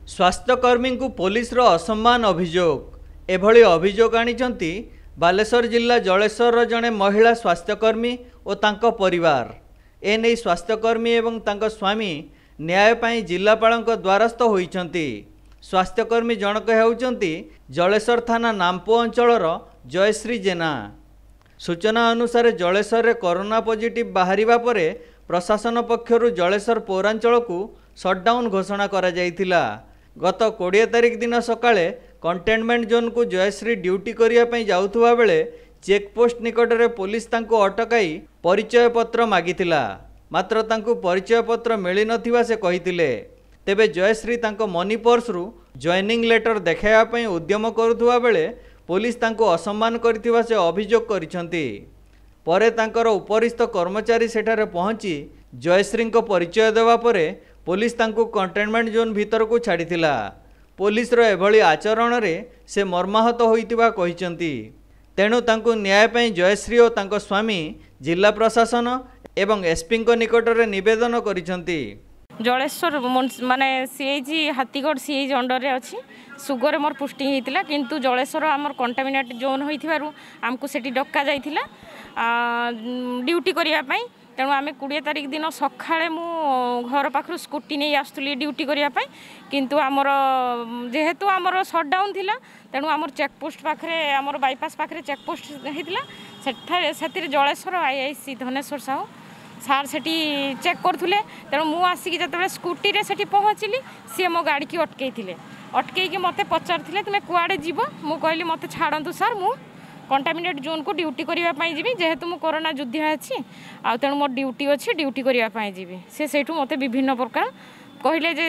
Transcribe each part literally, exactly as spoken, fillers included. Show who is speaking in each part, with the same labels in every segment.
Speaker 1: ସ୍ୱାସ୍ଥ୍ୟକର୍ମୀଙ୍କୁ ପୋଲିସର ଅସମ୍ମାନ ଅଭିଯୋଗ। ଏଭଳି ଅଭିଯୋଗ ଆଣିଛନ୍ତି ବାଲେଶ୍ୱର ଜିଲ୍ଲା ଜଳେଶ୍ୱରର ଜଣେ ମହିଳା ସ୍ୱାସ୍ଥ୍ୟକର୍ମୀ ଓ ତାଙ୍କ ପରିବାର। ଏନେଇ ସ୍ୱାସ୍ଥ୍ୟକର୍ମୀ ଏବଂ ତାଙ୍କ ସ୍ୱାମୀ ନ୍ୟାୟ ପାଇଁ ଜିଲ୍ଲାପାଳଙ୍କ ଦ୍ୱାରସ୍ଥ ହୋଇଛନ୍ତି। ସ୍ୱାସ୍ଥ୍ୟକର୍ମୀ ଜଣକ ହେଉଛନ୍ତି ଜଳେଶ୍ୱର ଥାନା ନାମ୍ପୋ ଅଞ୍ଚଳର ଜୟଶ୍ରୀ ଜେନା। ସୂଚନା ଅନୁସାରେ ଜଳେଶ୍ୱରରେ କରୋନା ପଜିଟିଭ୍ ବାହାରିବା ପରେ ପ୍ରଶାସନ ପକ୍ଷରୁ ଜଳେଶ୍ୱର ପୌରାଞ୍ଚଳକୁ ସଟ୍ଡାଉନ୍ ଘୋଷଣା କରାଯାଇଥିଲା। ଗତ କୋଡ଼ିଏ ତାରିଖ ଦିନ ସକାଳେ କଣ୍ଟେନମେଣ୍ଟ ଜୋନ୍କୁ ଜୟଶ୍ରୀ ଡ୍ୟୁଟି କରିବା ପାଇଁ ଯାଉଥିବା ବେଳେ ଚେକପୋଷ୍ଟ ନିକଟରେ ପୋଲିସ ତାଙ୍କୁ ଅଟକାଇ ପରିଚୟ ପତ୍ର ମାଗିଥିଲା। ମାତ୍ର ତାଙ୍କୁ ପରିଚୟ ପତ୍ର ମିଳିନଥିବା ସେ କହିଥିଲେ। ତେବେ ଜୟଶ୍ରୀ ତାଙ୍କ ମନି ପର୍ସରୁ ଜଏନିଂ ଲେଟର ଦେଖାଇବା ପାଇଁ ଉଦ୍ୟମ କରୁଥିବା ବେଳେ ପୋଲିସ ତାଙ୍କୁ ଅସମ୍ମାନ କରିଥିବା ସେ ଅଭିଯୋଗ କରିଛନ୍ତି। ପରେ ତାଙ୍କର ଉପରିସ୍ଥ କର୍ମଚାରୀ ସେଠାରେ ପହଞ୍ଚି ଜୟଶ୍ରୀଙ୍କ ପରିଚୟ ଦେବା ପରେ ପୋଲିସ ତାଙ୍କୁ କଣ୍ଟେନମେଣ୍ଟ ଜୋନ୍ ଭିତରକୁ ଛାଡ଼ିଥିଲା। ପୋଲିସର ଏଭଳି ଆଚରଣରେ ସେ ମର୍ମାହତ ହୋଇଥିବା କହିଛନ୍ତି। ତେଣୁ ତାଙ୍କୁ ନ୍ୟାୟ ପାଇଁ ଜୟଶ୍ରୀ ଓ ତାଙ୍କ ସ୍ୱାମୀ ଜିଲ୍ଲା ପ୍ରଶାସନ ଏବଂ ଏସ୍ପିଙ୍କ ନିକଟରେ ନିବେଦନ କରିଛନ୍ତି।
Speaker 2: ଜଳେଶ୍ୱର ମାନେ ସିଏଜି ହାତୀଗଡ଼ ସିଏଜି ଅଣ୍ଡରରେ ଅଛି। ସୁଗରେ ମୋର ପୋଷ୍ଟିଂ ହେଇଥିଲା, କିନ୍ତୁ ଜଳେଶ୍ୱର ଆମର କଣ୍ଟାମିନେଟ୍ ଜୋନ୍ ହୋଇଥିବାରୁ ଆମକୁ ସେଠି ଡକା ଯାଇଥିଲା ଡ୍ୟୁଟି କରିବା ପାଇଁ। ତେଣୁ ଆମେ କୋଡ଼ିଏ ତାରିଖ ଦିନ ସକାଳେ ମୁଁ ଘର ପାଖରୁ ସ୍କୁଟି ନେଇ ଆସୁଥିଲି ଡ୍ୟୁଟି କରିବା ପାଇଁ, କିନ୍ତୁ ଆମର ଯେହେତୁ ଆମର ସଟ୍ଡାଉନ୍ ଥିଲା, ତେଣୁ ଆମର ଚେକପୋଷ୍ଟ ପାଖରେ, ଆମର ବାଇପାସ୍ ପାଖରେ ଚେକପୋଷ୍ଟ ହେଇଥିଲା। ସେଠାରେ ସେଥିରେ Jaleswar I I C Dhaneswar Sahu sir ସେଠି ଚେକ୍ କରୁଥିଲେ। ତେଣୁ ମୁଁ ଆସିକି ଯେତେବେଳେ ସ୍କୁଟିରେ ସେଠି ପହଞ୍ଚିଲି, ସିଏ ମୋ ଗାଡ଼ିକି ଅଟକେଇଥିଲେ। ଅଟକେଇକି ମୋତେ ପଚାରିଥିଲେ, ତୁମେ କୁଆଡ଼େ ଯିବ? ମୁଁ କହିଲି, ମୋତେ ଛାଡ଼ନ୍ତୁ ସାର୍, ମୁଁ କଣ୍ଟାମିନେଟ୍ ଜୋନ୍କୁ ଡ୍ୟୁଟି କରିବା ପାଇଁ ଯିବି, ଯେହେତୁ ମୁଁ କରୋନା ଯୋଦ୍ଧା ଅଛି ଆଉ ତେଣୁ ମୋର ଡ୍ୟୁଟି ଅଛି, ଡ୍ୟୁଟି କରିବା ପାଇଁ ଯିବି। ସେ ସେଇଠୁ ମୋତେ ବିଭିନ୍ନ ପ୍ରକାର କହିଲେ ଯେ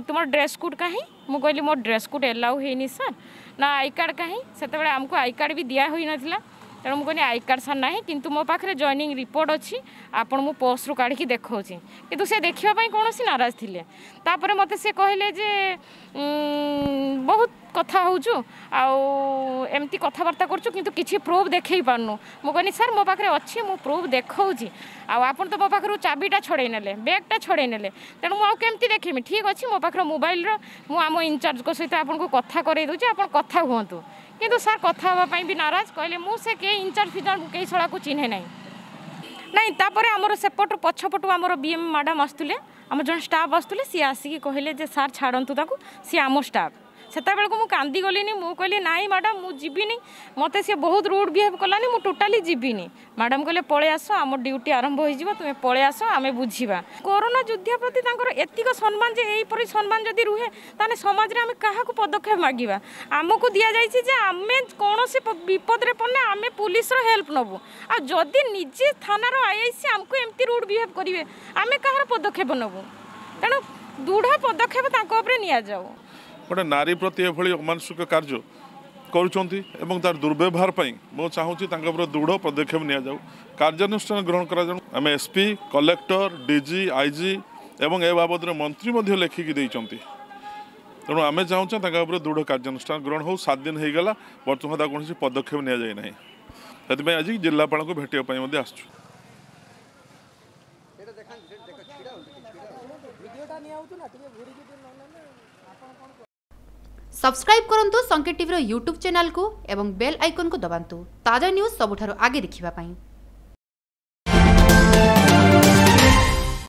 Speaker 2: ତୁମର ଡ୍ରେସ୍ କୋଡ଼୍ କାହିଁ? ମୁଁ କହିଲି, ମୋର ଡ୍ରେସ୍ କୋଡ଼୍ ଏଲାଉ ହେଇନି ସାର୍। ନା, I card କାହିଁ? ସେତେବେଳେ ଆମକୁ I card ବି ଦିଆ ହୋଇନଥିଲା। ତେଣୁ ମୁଁ କହିଲି, I card sir ନାହିଁ, କିନ୍ତୁ ମୋ ପାଖରେ ଜଏନିଂ ରିପୋର୍ଟ ଅଛି, ଆପଣ ମୁଁ ପର୍ସରୁ କାଢ଼ିକି ଦେଖାଉଛି। କିନ୍ତୁ ସେ ଦେଖିବା ପାଇଁ କୌଣସି ନାରାଜ ଥିଲେ। ତାପରେ ମୋତେ ସେ କହିଲେ ଯେ ବହୁତ କଥା ହେଉଛୁ ଆଉ ଏମିତି କଥାବାର୍ତ୍ତା କରୁଛୁ, କିନ୍ତୁ କିଛି ପ୍ରୁଫ୍ ଦେଖେଇ ପାରୁନୁ। ମୁଁ କହିଲି, ସାର୍, ମୋ ପାଖରେ ଅଛି, ମୁଁ ପ୍ରୁଫ୍ ଦେଖାଉଛି, ଆଉ ଆପଣ ତ ମୋ ପାଖରୁ ଚାବିଟା ଛଡ଼େଇ ନେଲେ, ବ୍ୟାଗ୍ଟା ଛଡ଼େଇ ନେଲେ, ତେଣୁ ମୁଁ ଆଉ କେମିତି ଦେଖିବି? ଠିକ୍ ଅଛି, ମୋ ପାଖରେ ମୋବାଇଲର ମୁଁ ଆମ ଇନଚାର୍ଜଙ୍କ ସହିତ ଆପଣଙ୍କୁ କଥା କରେଇ ଦେଉଛି, ଆପଣ କଥା ହୁଅନ୍ତୁ। କିନ୍ତୁ ସାର୍ କଥା ହେବା ପାଇଁ ବି ନାରାଜ। କହିଲେ, ମୁଁ ସେ କେହି ଇନଚାର୍ଜ ଫିଚାର୍ଜ ମୁଁ କେହି ଶଳାକୁ ଚିହ୍ନେ ନାହିଁ। ନାଇଁ, ତାପରେ ଆମର ସେପଟୁ ପଛପଟୁ ଆମର ବି ଏମ୍ ମ୍ୟାଡ଼ାମ୍ ଆସୁଥିଲେ, ଆମର ଜଣେ ଷ୍ଟାଫ୍ ଆସୁଥିଲେ। ସିଏ ଆସିକି କହିଲେ ଯେ ସାର୍, ଛାଡ଼ନ୍ତୁ ତାକୁ, ସିଏ ଆମ ଷ୍ଟାଫ୍। ସେତେବେଳକୁ ମୁଁ କାନ୍ଦିଗଲିନି। ମୁଁ କହିଲି, ନାଇଁ ମ୍ୟାଡ଼ାମ୍, ମୁଁ ଯିବିନି, ମୋତେ ସିଏ ବହୁତ ରୁଡ଼୍ ବିହେଭ୍ କଲାନି, ମୁଁ ଟୋଟାଲି ଯିବିନି। ମ୍ୟାଡ଼ାମ୍ କହିଲେ, ପଳେଇ ଆସ, ଆମ ଡ୍ୟୁଟି ଆରମ୍ଭ ହୋଇଯିବ, ତୁମେ ପଳେଇ ଆସ, ଆମେ ବୁଝିବା। କରୋନା ଯୁଦ୍ଧ ପ୍ରତି ତାଙ୍କର ଏତିକ ସମ୍ମାନ ଯେ ଏହିପରି ସମ୍ମାନ ଯଦି ରୁହେ, ତାହେଲେ ସମାଜରେ ଆମେ କାହାକୁ ପଦକ୍ଷେପ ମାଗିବା? ଆମକୁ ଦିଆଯାଇଛି ଯେ ଆମେ କୌଣସି ବିପଦରେ ପଡ଼ିଲେ ଆମେ ପୁଲିସର ହେଲ୍ପ ନେବୁ, ଆଉ ଯଦି ନିଜେ ଥାନାର I I C ଆମକୁ ଏମିତି ରୁଡ଼୍ ବିହେଭ୍ କରିବେ, ଆମେ କାହାର ପଦକ୍ଷେପ ନେବୁ? ତେଣୁ ଦୃଢ଼ ପଦକ୍ଷେପ ତାଙ୍କ ଉପରେ ନିଆଯାଉ।
Speaker 3: ଗୋଟେ ନାରୀ ପ୍ରତି ଏଭଳି ଅମାନସିକ କାର୍ଯ୍ୟ କରୁଛନ୍ତି ଏବଂ ତାର ଦୁର୍ବ୍ୟବହାର ପାଇଁ ମୁଁ ଚାହୁଁଛି ତାଙ୍କ ଉପରେ ଦୃଢ଼ ପଦକ୍ଷେପ ନିଆଯାଉ, କାର୍ଯ୍ୟାନୁଷ୍ଠାନ ଗ୍ରହଣ କରାଯାଉ। ଆମେ S P, collector, D G, I G ଏବଂ ଏ ବାବଦରେ ମନ୍ତ୍ରୀ ମଧ୍ୟ ଲେଖିକି ଦେଇଛନ୍ତି। ତେଣୁ ଆମେ ଚାହୁଁଛେ ତାଙ୍କ ଉପରେ ଦୃଢ଼ କାର୍ଯ୍ୟାନୁଷ୍ଠାନ ଗ୍ରହଣ ହେଉ। ସାତ ଦିନ ହେଇଗଲା, ବର୍ତ୍ତମାନ ତାକୁ କୌଣସି ପଦକ୍ଷେପ ନିଆଯାଇ ନାହିଁ। ସେଥିପାଇଁ ଆଜି ଜିଲ୍ଲାପାଳଙ୍କୁ ଭେଟିବା ପାଇଁ ମଧ୍ୟ ଆସିଛୁ।
Speaker 4: ସବସ୍କ୍ରାଇବ୍ କରନ୍ତୁ ସଂକେତ ଟିଭିର ୟୁଟ୍ୟୁବ୍ ଚ୍ୟାନେଲକୁ ଏବଂ ବେଲ୍ ଆଇକନ୍କୁ ଦବାନ୍ତୁ ତାଜା ନ୍ୟୁଜ୍ ସବୁଠାରୁ ଆଗେ ଦେଖିବା ପାଇଁ।